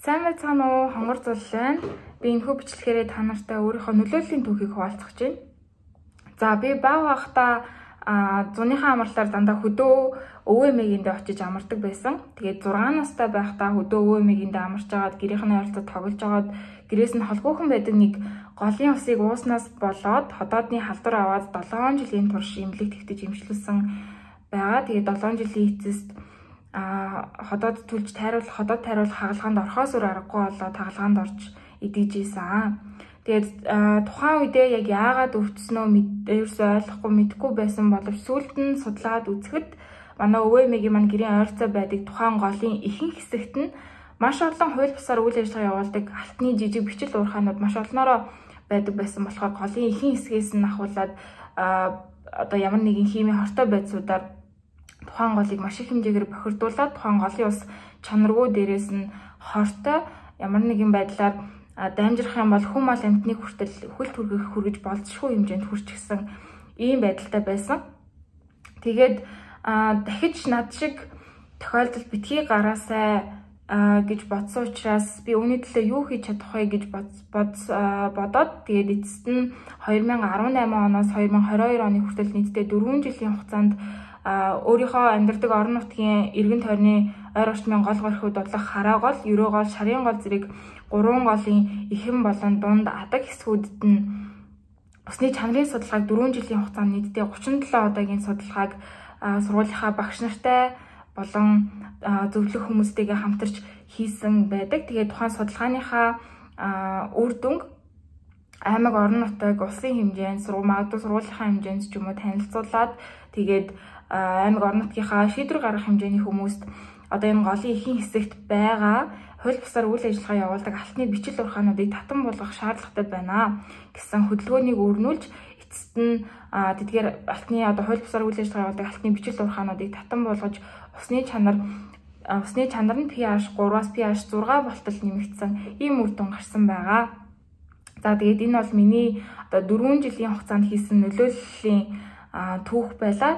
Сайн байцгаана уу? Хонгор зул байна. Би энэхүү бичлэгээр та нартай өөрийнхөө нөлөөллийн түүхийг хуваалцах гэж байна. За би бага байхдаа зуныхаа амралтаар дандаа хөдөө өвөө эмээгэндээ очиж амардаг байсан. Тэгээд 6 настай байхдаа хөдөө өвөө эмээгэндээ амарч агаад гэрийнхний ойролцоо тоглож агаад гэрээс нь холгүйхэн байдаг нэг голын усыг ууснаас болоод ходоодны халдвар аваад 7 жилийн турш эмнэлэг тэгтэж эмчилсэн байгаа. Тэгээд 7 жилийн эцэст ходоод түлж ходоод тайруулах хагалгаанд орохоос өөр аргагүй болоод хагалгаанд орж идэгжсэн. Тэгээд тухайн үедээ яг яагаад өвчснөө ерөөсөй ойлгохгүй мэдэхгүй байсан боловч сүүлд нь судлаад үзэхэд манай өвөө эмээгийн маань гэрийн ойролцоо байдаг тухайн голын ихэнх хэсэгт нь маш олон хууль бусаар үйл ажиллагаа явуулдаг алтны жижиг бичил уурхаанууд маш олноороо байдаг байсан болохоор голын ихэнх хэсгээс нь ахуулаад одоо ямар нэгэн химийн хортой байдлуудаар тухайн голыг маш их хэмжээгээр бохирдуулаад тухайн голын ус чанаргүй дээрээс нь хортой ямар нэгэн байдлаар дамжирах юм бол хүм мал амьтныг хүртэл хөл хүргэж болзошгүй хэмжээнд хүрчихсэн ийм байдалтай байсан. Тэгээд дахиж над шиг тохиолдол битгий гараасай гэж бодсон учраас би үүний төлөө юу хийж чадах вэ гэж бодоод тэгээд эцэст нь 2018 оноос 2022 оны хүртэл нийтдээ 4 жилийн хугацаанд өөрийнхөө амьдардаг орон нутгийн эргэн тойрны ойр орчмын гол горхиуд бодлох хараа гол, ерөө гол, шарын гол зэрэг 3 голын эхэм болон дунд адаг хэсгүүдэд нь усны чанарын судалгааг 4 жилийн хугацаанд нийтдээ 37 удаагийн судалгааг сургуулийнхаа багш нартай болон зөвлөх хүмүүстэйгээ хамтарч хийсэн байдаг. Тэгээд тухайн судалгааныхаа үр дүнг аймаг орон нутаг улсын хэмжээнд магадгүй сургуулийнхаа хэмжээнд ч юм уу танилцуулаад тэгээд аймаг орон нутгийнхаа шийдвэр гаргах хэмжээний хүмүүст одоо энэ голын ихэнх хэсэгт байгаа хууль бусаар үйл ажиллагаа явуулдаг алтны бичил уурхаануудыг татан болгох шаардлагатай байна гэсэн хөдөлгөөнийг өрнүүлж эцэст нь тэдгээр алтны одоо хууль бусаар үйл ажиллагаа явуулдаг алтны бичил уурхаануудыг татан болгож усны чанар нь pH 3-аас pH 6 болтол нэмэгдсэн ийм үр дүн гарсан байгаа. За тэгээд энэ бол миний одоо 4 жилийн хугацаанд хийсэн нөлөөллийн түүх байлаа.